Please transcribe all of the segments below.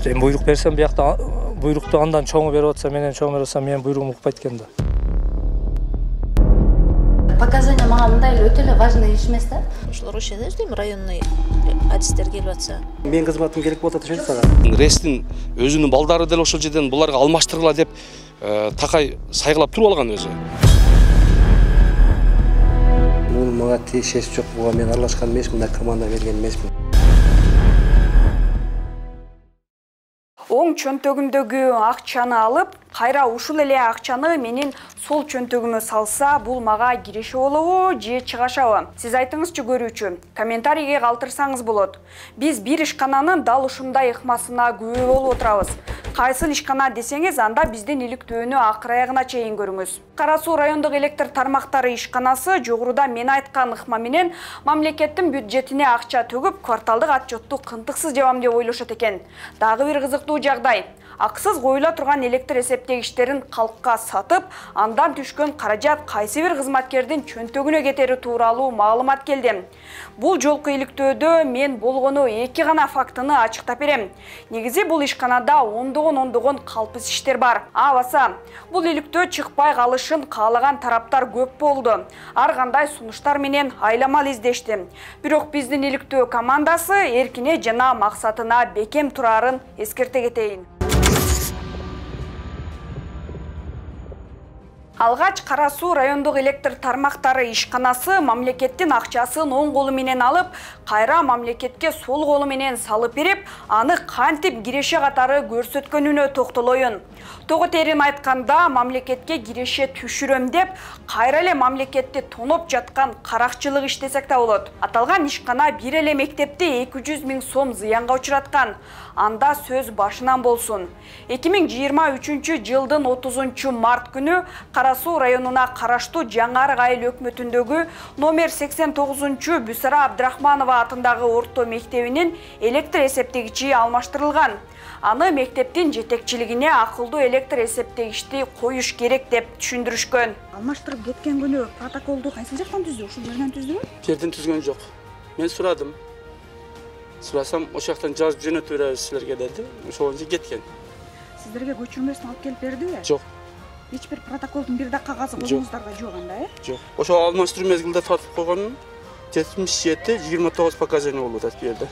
Мен буйрук берсем, биякта буйрукту андан чоңу берип атса, менен чоң берип атсам, менин буйругум укпайт экен да. Показания мага мындай эле өтө эле важный иш эмес да. Ошолор ошондой дейм, районный адистер келип атса. Менин кызматым керек болот ошентип сага. Рестин өзүнүн балдары деле ошол жерден буларга алмаштыргыла деп такай сайгылап туруп алган өзү. Бул мага тиешеси жок, буга мен аралашкан эмесмин, да команда берген эмесмин. Оң чөнтөгүмдөгү акчаны алып, кайра ушул эле акчаны менин сол чөнтөгүмө салса, бул мага киреше болобу же чыгашабы? Сиз айтыңызчы көрүүчү, комментарийге калтырсаңыз болот. Биз бир ишкананын дал ушундай ыкмасына күбө болуп отурабыз. Кайсыл ишкана десеңиз, анда биздин иликтөөнү акыр аягына чейин көрүңүз. Кара Суу райондук электр тармактары ишканасы жогоруда мен айткан ыкма менен мамлекеттин бюджетине акча төгүп, кварталдык отчетту кынтыксыз жабам деп ойлошот экен. Дагы бир кызыктуу жагдай. Аксыз коюла турган электр эсептегичтерин калкка сатып, андан түшкөн каражат кайсы бир кызматкердин чөнтөгүнө кетери тууралуу маалымат келди. Бул жолку иликтөөдө мен болгону 2 гана фактыны ачыктап берем. Негизи бул ишканада ондогон калпыс иштер бар. Баса, бул иликтөө чыкпай калышын каалаган тараптар көп болду. Ар кандай сунуштар менен айламал издешти. Бирок биздин иликтөө командасы эркине жана максатына бекем турарын эскерте кетейин. Алгач Кара Суу райондук электр тармактары ишканасы мамлекеттин акчасын оң колу менен алып, кайра мамлекетке сол колу менен салып берип, аны кантип киреше катары көрсөткөнүнө токтолоюн. Того терин айтканда, мамлекетке киреше түшүрөм деп, кайра эле мамлекетти тоноп жаткан каракчылык иштесек да болот. Аталган ишкана бир эле мектепти 200 000 сом зыянга учураткан. Анда сөз башынан болсун. 2023 жылдын 30 март күнү Кара Суу районуна караштуу Жаңарык айыл өкмөтүндөгү номер 89 Бүсара Абдрахманова атындагы орто мектебинин электр эсептегичи алмаштырылган. Аны мектептин жетекчилигине акылдуу электр эсептегичти коюш керек деп түшүндүрүшкөн. Алмаштырып кеткен күнү протоколду кайсыл жактан түздү? Ушул жерден түздүбү? Жерден түзгөн жок. Мен сурадым. Сурасам, ошол жактан жазып жөнөтүп беребиз силерге деди. Ошондо кеткен. Сиздерге көчүрмөсүн алып келип бердиби? Жок. Эч бир протоколдун бир да кагазы колуңуздарда жок анда, Жок. Ошо алмаштыруу мезгилде тартып койгонун 77-29 показания болуп атат бу жерде.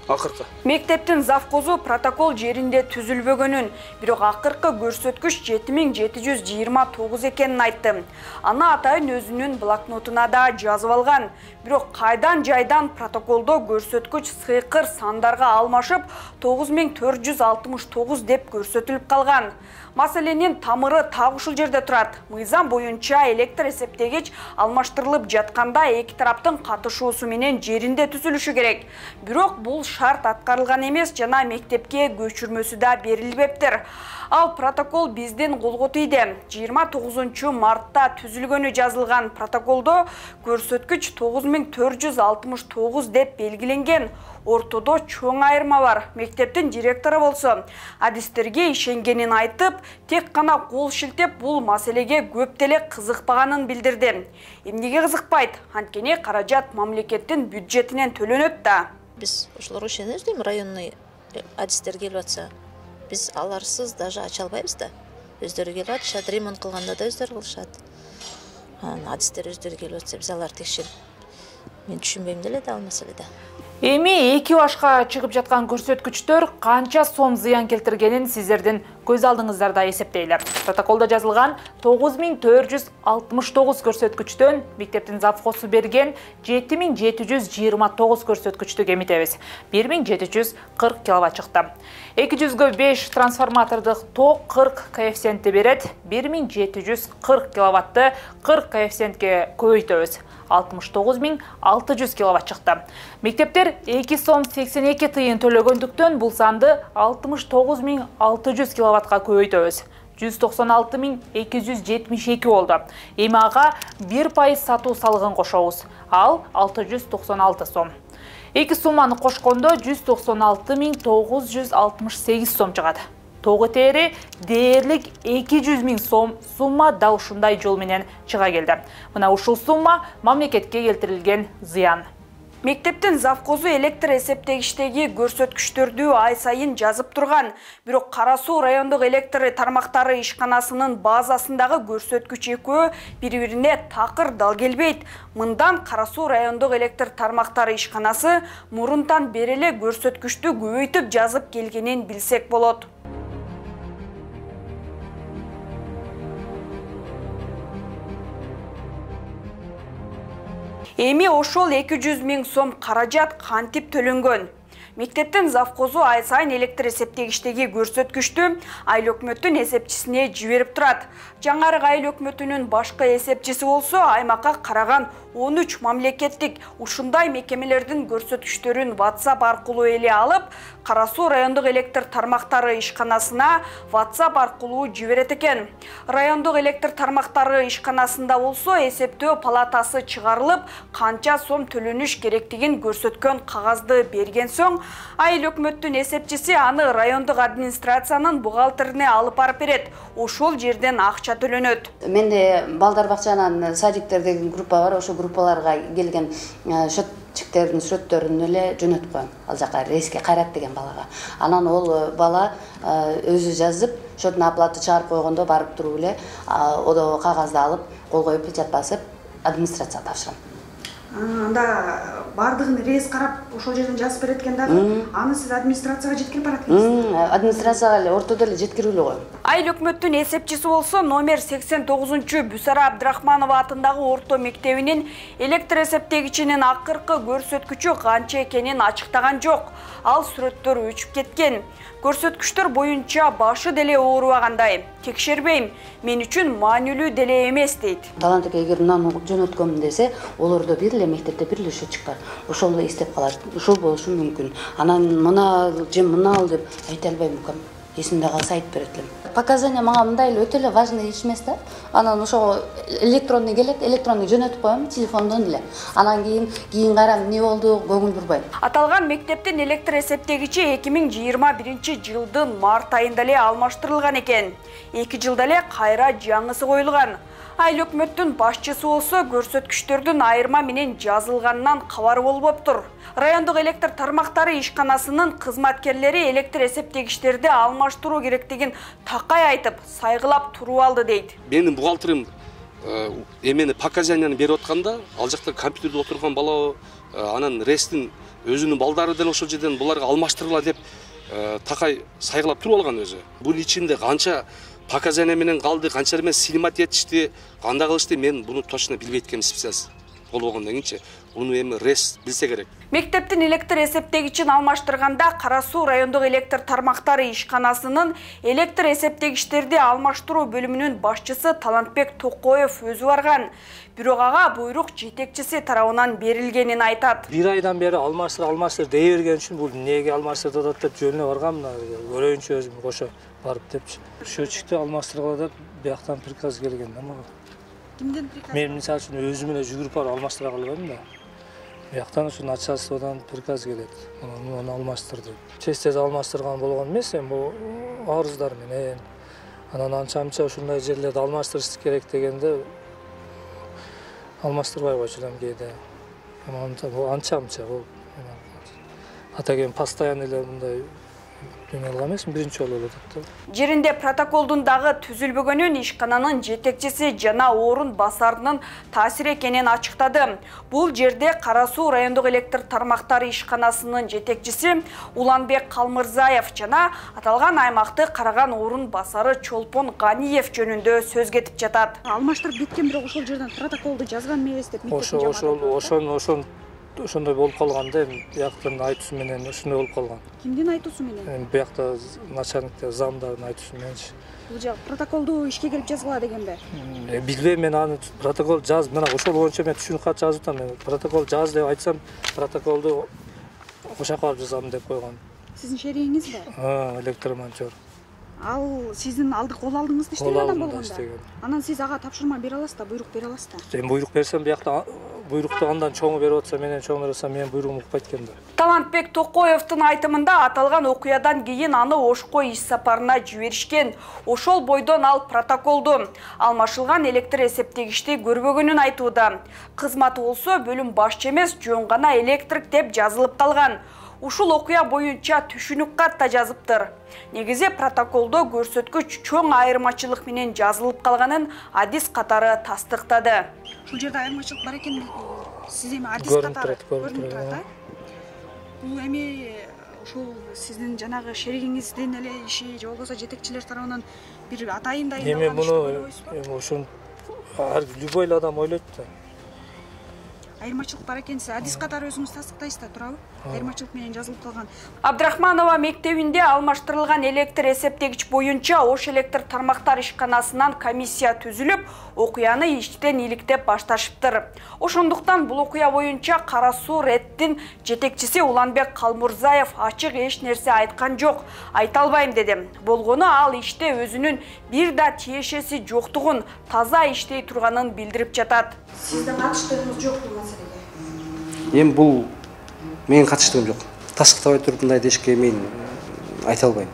Акыркы. Мектептин завкозу протокол жеринде түзүлбөгөнүн, бирок акыркы көрсөткүч 7729 экенин айтты. Аны атайын өзүнүн блокнотуна да жазып алган. Бирок кайдан жайдан протоколдо көрсөткүч сыйкыр сандарга алмашып 9469 деп көрсөтүлүп калган. Маселенин тамыры так ушул жерде турат. Мыйзам боюнча электр эсептегич алмаштырылып жатканда эки тараптын катышуусу менен жеринде түзүлүшү керек. Бирок бул шарт аткарылган эмес жана мектепке көчүрмөсү да берилбептир. Ал протокол биздин колго тийди. 29 мартта түзүлгөнү жазылган протоколдо көрсөткүч 9469 деп белгиленген. Ортодо чоң айырма бар. Мектептин директору болсо адистерге ишенгенин айтып, тек гана кол шилтеп бул маселеге көп деле кызыкпаганын билдирди. Эмнеге кызыкпайт? Анткени каражат мамлекеттин бюджетинен төлөнөт да. Биз ошолор ошондой дейм, районный адистер келип атса, биз аларсыз даже ача албайбыз да. Өздөрү келип атышат, ремонт кылганда да өздөрү кылышат. Адистер өздөрү келип атса, биз аларды текшерип. Мен түшүнбөйм деле да ал маселеде. Эми эки башка чыгып жаткан көрсөткүчтөр канча сом зыян келтиргенин сиздердин көз алдыңыздарда эсептейли. Протоколдо жазылган 9469 көрсөткүчтөн мектептин завхозу берген 7729 көрсөткүчтү кемитебиз. 1740 киловатт чыкты. 205 трансформатордук ток 40 коэффициентти берет. 1740 киловатты 40 коэффициентке көбөйтөбүз. 69600 киловатт чыкты. Мектептер 2 сом 82 тыйын төлөгөндүктөн бул санды 69600 киловаттка көбөйтөбүз. 196272 болду. Эми ага 1% сатуу салыгын кошобуз. Ал 696 сом. Эки сумманы кошкондо 196968 сом чыгат. Тогу тери дээрлик 200 000 сом сумма дал ушундай жол менен чыга келди. Мына ушул сумма мамлекетке келтирилген зыян. Мектептин завкозу электр эсептегичтеги көрсөткүчтөрдү ай сайын жазып турган. Бирок Кара Суу райондук электр тармактары ишканасынын базасындагы көрсөткүч экөө бири-бирине такыр дал келбейт. Мындан Кара Суу райондук электр тармактары ишканасы мурунтан бери эле көрсөткүчтү көбөйтүп жазып келгенин билсек болот. Эми ошол 200 000 сом каражат кантип төлөнгөн? Мектептин завкозу ай сайын электр эсептегичтеги көрсөткүчтү айыл өкмөттүн эсепчисине жиберип турат. Жаңарык айыл өкмөтүнүн башкы эсепчиси болсо аймакка караган 13 мамлекеттик ушундай мекемелердин көрсөткүчтөрүн WhatsApp аркылуу эле алып, Кара Суу райондук электр тармактары ишканасына WhatsApp аркылуу жиберет экен. Райондук электр тармактары ишканасында болсо эсептөө палатасы чыгарылып, канча сом төлөнүш керектигин көрсөткөн кагазды берген соң, айыл өкмөттүн эсепчиси аны райондук администрациянын бухгалтерине алып барып берет. Ошол жерден акча төлөнөт. Менде балдар бакчанын садиктер деген группа бар. Ошол группаларга келген счетчиктердин сүрөттөрүн эле жөнөтүп коем. Ал жака рейске Кайрат деген балага. Анан ол бала өзү жазып, счетун оплата чыгарып койгондо барып туруп эле одо кагазды алып, кол коюп печать басып, администрацияга тапшырам. Анда бардыгын рейс карап, ошол жерден жазып берет экен дагы. Аны сиз администрацияга жеткирип барат экенсиз. Администрацияга эле ортодо эле жеткирип эле коем. Айыл өкмөттүн эсепчиси болсо номер 89 Бүсара Абдрахманова атындагы орто мектебинин электр эсептегичинин акыркы көрсөткүчү канча экенин ачыктаган жок. Ал сүрөттөр өчүп кеткен. Көрсөткүчтөр боюнча башы деле оорубагандай. Текшербейм, мен үчүн маанилүү деле эмес дейт. Талант эке эгер мынаны жөнөткөм десе, олордо бир эле мектепте бир эле счетчик бар. Ошол эле издеп калат. Ошол болушу мүмкүн. Анан мына же мына ал деп айта албайм укам. Эсимде калса айтып берет элем. Показания мага мындай эле өтө эле важный иш эмес да. Анан ошого электронный келет, электронный жөнөтүп коем телефондон эле. Анан кийин карам эмне болду, көңүл бурбайм. Аталган мектептин электр эсептегичи 2021 жылдын март айында эле алмаштырылган экен. 2 жылда эле кайра жаңысы коюлган. Айыл өкмөттүн башчысы болсо көрсөткүчтөрдүн айырма менен жазылганынан кабар болбоптур. Райондук электр тармактары ишканасынын кызматкерлери электр эсептегичтерди алмаштыруу керектигин такай айтып, сайгылап туруп алды дейт. Менин бухгалтерим эмени показанияны берип атканда, ал жакта компьютерде отурган бала анан рестин өзүнүн балдары деле ошол жерден буларга алмаштыргыла деп такай сайгылап туруп алган өзү. Бунун ичинде канча показания менен калды, канча менен снимать этишти, кандай кылышты, мен буну точно билбейт экенмин специалист болбогондон кийинчи. Буну эми рес билсе керек. Мектептин электр эсептегичин алмаштырганда Кара Суу райондук электр тармактары ишканасынын электр эсептегичтерди алмаштыруу бөлүмүнүн башчысы Талантбек Токоев өзү барган. Бирок ага буйрук жетекчиси тарабынан берилгенин айтат. Бир айдан бери алмаштыр дей берген үчүн бул эмнеге алмаштырып атат деп жөнүнө баргам, көрөйүнчү өзүм кошо барып депчи. Счетчикти алмаштыргыла деп бияктан приказ келген да мага. Кимден приказ? Мен мисалы үчүн өзүм эле жүгүрүп барып алмаштыра албайм да. Бияктан ушу начальстводон приказ келет. Муну алмаштыр деп. Тез алмаштырган болгон эмес, бул арыздар менен. Анан анча-мынча ушундай жерлерди алмаштырыш керек дегенде алмаштырбай койчу элем кээде. Анча-мынча бул. Атаген постоянно эле мындай эмесмин, биринчи жолу эле деп. Жеринде протоколдун дагы түзүлбөгөнүн ишкананын жетекчиси жана орун басарынын таасир экенин ачыктады. Бул жерде Кара Суу райондук электр тармактары ишканасынын жетекчиси Уланбек Калмырзаев жана аталган аймакты караган орун басары Чолпон Ганиев жөнүндө сөз кетип жатат. Алмаштырып кеткен, бирок ошол жерден протоколду жазган эмес деп Ошон ошондой болуп калган да, бияктын айтуусу менен ошондой болуп калган. Кимдин айтуусу менен? Биякта начальниктер, замдардын айтуусу мененчи. Бул жак протоколду ишке келип жазгыла дегенби? Билбейм, мен аны протокол жаз, мына ошол боюнча мен түшүнүк кат жазып атам. Мен протокол жаз деп айтсам, протоколду ошакка барып жазам деп койгон. Сиздин шеригиңиз бар? Электромонтер. Ал сиздин кол алдыңызда иштеген адам болгондо. Анан сиз ага тапшырма бере аласыз да, буйрук бере аласыз да. Мен буйрук берсем, биякта буйрукту андан чоңу берип атса, менен чоң берип атса, менин буйругум укпайт экен да. Талантбек Токоевдун айтымында аталган окуядан кийин аны Ошко иш сапарына жиберишкен. Ошол бойдон ал протоколду алмашылган электр эсептегичти көрбөгөнүн айтууда. Кызматы болсо бөлүм башчы эмес, жөн гана электрик деп жазылып калган. Ушул окуя боюнча түшүнүк кат да жазыптыр. Негизи протоколдо көрсөткүч чоң айырмачылык менен жазылып калганын адис катары тастыктады. Ушул жерде айырмачылык бар экен. Сиз эми адис катары көрүнүп турат, бул эми ушул сиздин жанагы шеригиңиздин эле иши же болбосо жетекчилер тарабынан бир атайын дайындалган иш деп ойлойсузбу? Эми ушун любой эле адам ойлойт да. Айырмачылык бар экен, сиз адис катары өзүңүз тастыктайсыз да, туурабы? Айырмачылык менен жазылып калган. Абдрахманова мектебинде алмаштырылган электр эсептегич боюнча Ош электр тармактар ишканасынан комиссия түзүлүп, окуяны иштен иликтеп башташыптыр. Ошондуктан бул окуя боюнча Кара Суу РЭТтин жетекчиси Уланбек Калмурзаев ачык эч нерсе айткан жок, айта албайм деди. Болгону ал иште өзүнүн бир да тиешеси жоктугун, таза иштей турганын билдирип жатат. Сиздин катыштыгыңыз жок бул маселеге? Эми бул менин катыштыгым жок. Тастыктабай туруп мындай дешке мен айта албайм.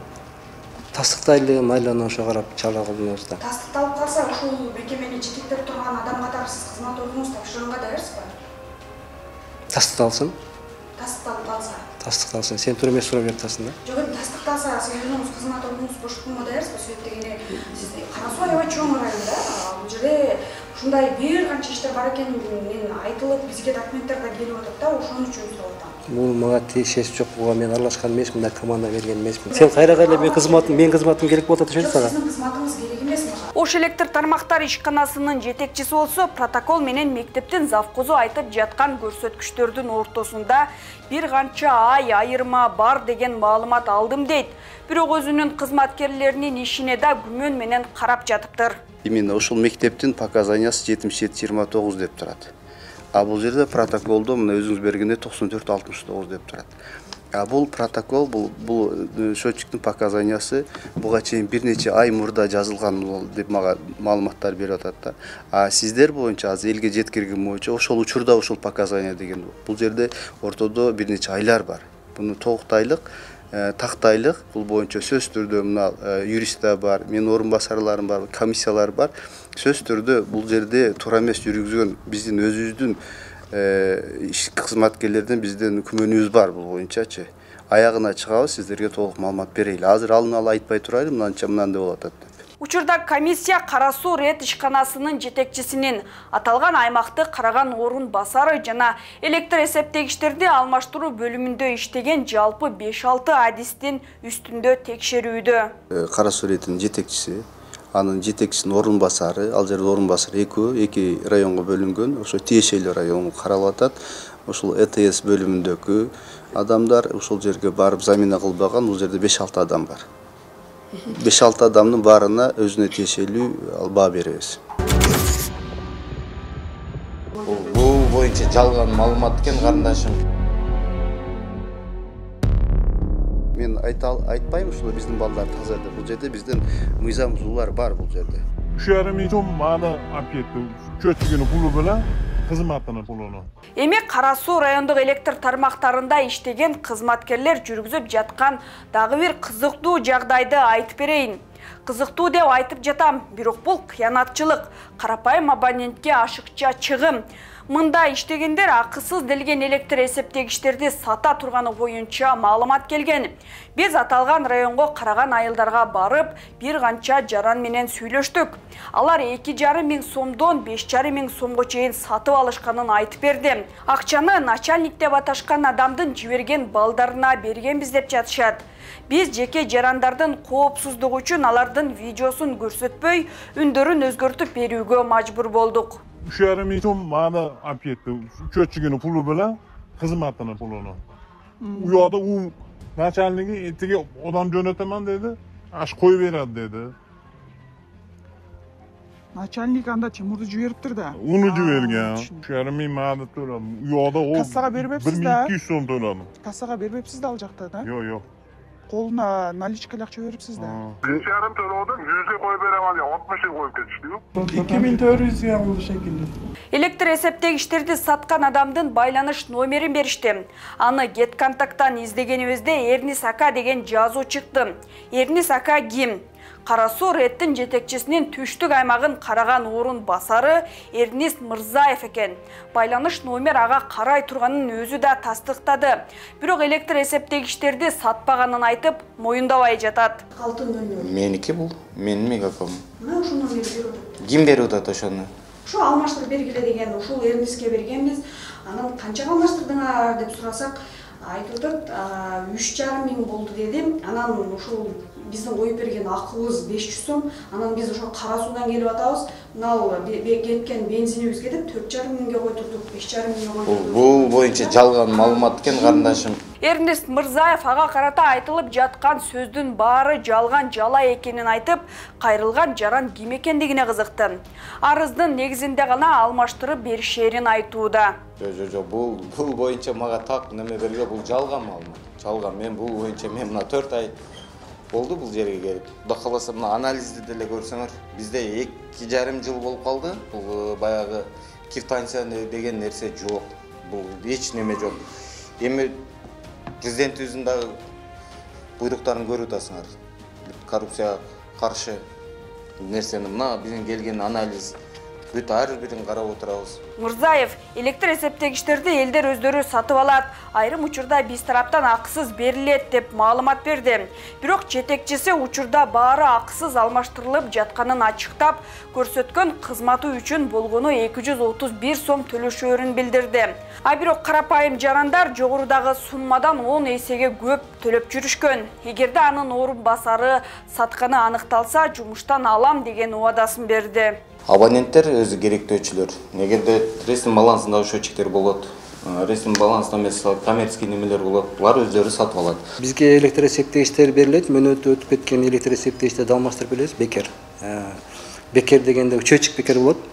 Тастыктайлы, майлана ошо карап чала кылдыңыз да. Тастыкталып калса, ушул мекемени жетектеп турган адам катары сиз кызмат ордуңуз тапшырганга даярсызбы? Тастыкталсын. Тастыкталып калса. Тастыкталсын. Сен тура эмес сурап жатасың да. Жок, эми тастыкталса, сиз өзүңүз кызмат ордуңузду бошотконго даярсызбы? Себеп дегенде, сиз Кара Суу аябай чоң район да. Бул жерде ушундай бир канча иштер бар экени айтылып, бизге документтер да келип атат да, ошон үчүн сурап атам. Бул мага тиешеси жок, буга мен аралашкан эмесмин да, команда берген эмесмин. Сен кайрага эле менин кызматым керек болуп атат ошентип ага. Сиздин кызматыңыз керек эмес мага. Ош электр тармактар ишканасынын жетекчиси болсо, протокол менен мектептин завкозу айтып жаткан көрсөткүчтөрдүн ортосунда бир канча ай айырма бар деген маалымат алдым дейт. Бирок өзүнүн кызматкерлеринин ишине да күмөн менен карап жатыптыр. Именно ушул мектептин показаниясы 77-29 деп турат. А бул жерде протоколдо мына өзүңүз бергенде 94-69 деп турат. А бул протокол, бул счетчиктин показаниясы буга чейин бир нече ай мурда жазылган деп мага маалыматтар берип атат да. А сиздер боюнча азыр элге жеткирген боюнча ошол учурда ушул показания деген бул жерде ортодо бир нече айлар бар. Буну тогуктайлык, тактайлык, бул боюнча сөз түрдө мына юристтер бар, менин орун басарларым бар, комиссиялар бар. Сөз түрдө бул жерде туура эмес жүргүзгөн биздин өзүбүздүн иш кызматкерлерден биздин күмөнүбүз бар бул боюнчачы. Аягына чыгабыз, сиздерге толук маалымат берейли. Азыр алын ала айтпай турайлы, мынанча мынандай болуп атат деп. Учурда комиссия Кара Суу РЭТ ишканасынын жетекчисинин аталган аймакты караган орун басары жана электр эсептегичтерди алмаштыруу бөлүмүндө иштеген жалпы 5-6 адистин үстүндө текшерүүдө. Кара Суу РЭТтин жетекчиси, анын жетекчисинин орун басары, ал жерде орун басары эки районго бөлүнгөн, ошо тиешелүү район каралып атат. Ошол ЭТС бөлүмүндөгү адамдар ошол жерге барып замена кылбаган, бул жерде 5-6 адам бар. 5-6 адамдын баарына өзүнө тиешелүү баа беребиз. Бул боюнча жалган маалымат экен, карындашым. Мен айтпайм, ушул биздин балдар таза деп. Бул жерде биздин мыйзам бузуулар бар бул жерде. 3,5 сом мага алып кетти. Чөчүгүнүн пулу менен кызматынын пулуну. Эми Кара Суу райондук электр тармактарында иштеген кызматкерлер жүргүзүп жаткан дагы бир кызыктуу жагдайды айтып берейин. Кызыктуу деп айтып жатам, бирок бул кыянатчылык, карапайым абонентке ашыкча чыгым. Мында иштегендер акысыз делген электр эсептегичтерди сата турганы боюнча маалымат келген. Биз аталган районго караган айылдарга барып, бир канча жаран менен сүйлөштүк. Алар 2,5 миң сомдон 5,5 миң сомго чейин сатып алышканын айтып берди. Акчаны начальник деп аташкан адамдын жиберген балдарына бергенбиз деп жатышат. Биз жеке жарандардын коопсуздугу үчүн алардын видеосун көрсөтпөй, үндөрүн өзгөртүп берүүгө мажбур болдук. 3,5 сом мага алып кетти. Чөчүгүнүн пулу менен кызматынын пулуну. У жакта начальниги этиге адам жөнөтөмөн деди. Аш кой берет деди. Начальник анда Тимурду жибериптир да. Уну жиберген. 3,5 миң мага төлөдүм. У жакта кассага бербепсиз да? 1200 сом төлөдүм. Кассага бербепсиз да ал жакта да? Жок. колуна наличкалык акча берипсиз да. 5,5 төлөөдүм, 100 коюп берем деп 60 коюп кетиштиби? 2400 болду шекилли. Электр эсептегичтерди саткан адамдын байланыш номерин беришти. Аны Get Контакттан издегенибизде Эрнис ака деген жазуу чыкты. Эрнис ака ким? Кара Суу Реттин жетекчисинин түштүк аймагын караган орун басары Эрнис Мырзаев экен. Байланыш номер ага карай турганын өзү да тастыктады. Бирок электр эсептегичтерди сатпаганын айтып, моюндабай жатат. Алтын номер. Меники бул, менин мегафон. Мына ушул номерди берип атат. Ким берип атат ошону? Ушу алмаштырып бергиле деген, ушул Эрниске бергенбиз. Анан канчага алмаштырдыңар деп сурасак, айтып атат 3,5 миң болду дедим. Анан ушул биздин коюп берген акыбыз 500 сом. Анан биз ошо Кара Суудан келип атабыз. Мына кеткен бензинибиз кетип 4,5 миңге койдурдук, 5,5 миңге койдурдук. Бул боюнча жалган маалымат экен, карындашым. Эрнис Мырзаев ага карата айтылып жаткан сөздүн баары жалган жала экенин айтып, кайрылган жаран ким экендигине кызыкты. Арыздын негизинде гана алмаштырып беришерин айтууда. Жок, бул боюнча мага так неме берген, бул жалган маалымат. Жалган. Мен бул боюнча мына 4 ай болду бул жерге келип. Кудай кааласа мына анализди деле көрсөңөр, бизде 2,5 жыл болуп калды. Бул баягы квитанция деген нерсе жок. Бул эч неме жок. Эми президентибиздин дагы буйруктарын көрүп атасыңар. Коррупцияга каршы нерсени мына биздин келген анализ бүт ар бирин карап отурабыз. Мырзаев электр эсептегичтерди элдер өздөрү сатып алат, айрым учурда биз тараптан акысыз берилет деп маалымат берди. Бирок жетекчиси учурда баары акысыз алмаштырылып жатканын ачыктап, көрсөткөн кызматы үчүн болгону 231 сом төлөшөөрүн билдирди. А бирок карапайым жарандар жогорудагы суммадан 10 эсеге көп төлөп жүрүшкөн. Эгерде анын орун басары сатканы аныкталса, жумуштан алам деген убадасын берди. Абоненттер өзү керектөөчүлөр. Эгерде ресми балансында счетчиктер болот, ресми балансында эмес коммерческий немелер болот, булар өздөрү сатып алат. Бизге электр эсептегичтер берилет, мөөнөтү өтүп кеткен электр эсептегичтерди алмаштырып беребиз, бекер. Бекер дегенде счетчик бекер болот.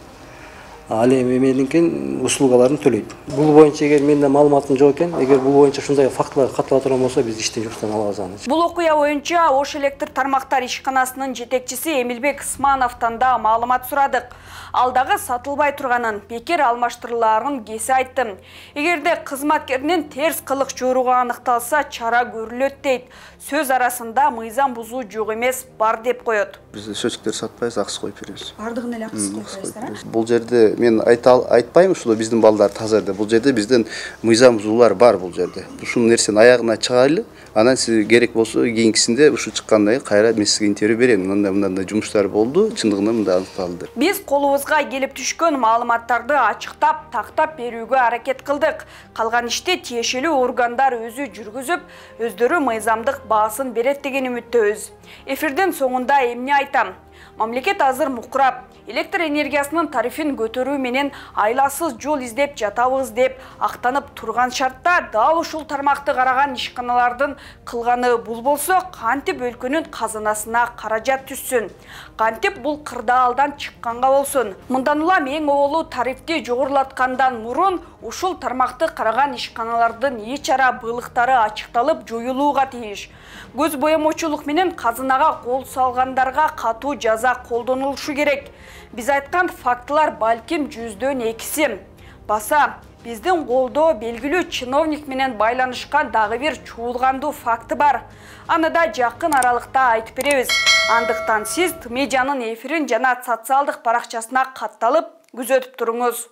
Ал эми менин услугаларын төлөйт. Бул боюнча эгер менде маалыматым жок экен, эгер бул боюнча ушундай фактылар каттала турган болсо, биз иштен жуктан алабыз аны. Бул окуя боюнча Ош электр тармактар ишканасынын жетекчиси Эмилбек Ысмановдон да маалымат сурадык. Ал дагы сатылбай турганын, бекер алмаштырыларын кесе айтты. Эгерде кызматкеринин терс кылык жоругу аныкталса, чара көрүлөт дейт. Сөз арасында мыйзам бузуу жок эмес, бар деп коет. Биз счетчиктер сатпайбыз, акыс коюп беребиз. Бардыгын эле акыс коюп бересиздер. Бул жерде мен айтпайм ушул биздин балдар таза деп. Бул жерде биздин мыйзам бузуулар бар бул жерде. Ушул нерсени аягына чыгайлы. Анан сиз керек болсо кийинкисинде ушу чыккандан кийин кайра мен сизге интервью берем. Мындай жумуштар болду, чындыгында мындай аныкталды. Биз колубузга келип түшкөн маалыматтарды ачыктап, тактап берүүгө аракет кылдык. Калган ишти тиешелүү органдар өзү жүргүзүп, өздөрү мыйзамдык баасын берет деген үмүттөбүз. Эфирдин соңунда эмне айтам? Мамлекет азыр мукурап, электр энергиясынын тарифин көтөрүү менен айласыз жол издеп жатабыз деп актанып турган шартта дал ушул тармакты караган ишканалардын кылганы бул болсо, кантип өлкөнүн казынасына каражат түшсүн? Кантип бул кырдаалдан чыкканга болсун? Мындан улам эң оолу тарифти жогорулаткандан мурун ушул тармакты караган ишканалардын эч ара былыктары ачыкталып жоюлууга тийиш. Көз боемочулук менен казынага кол салгандарга катуу жаза колдонулушу керек. Биз айткан фактылар балким 100дөн 2си. Баса биздин колдо белгилүү чиновник менен байланышкан дагы бир чуулгандуу факты бар. Аны да жакын аралыкта айтып беребиз. Андыктан сиз Тмедианын эфирин жана социалдык баракчасына катталып күзөтүп туруңуз.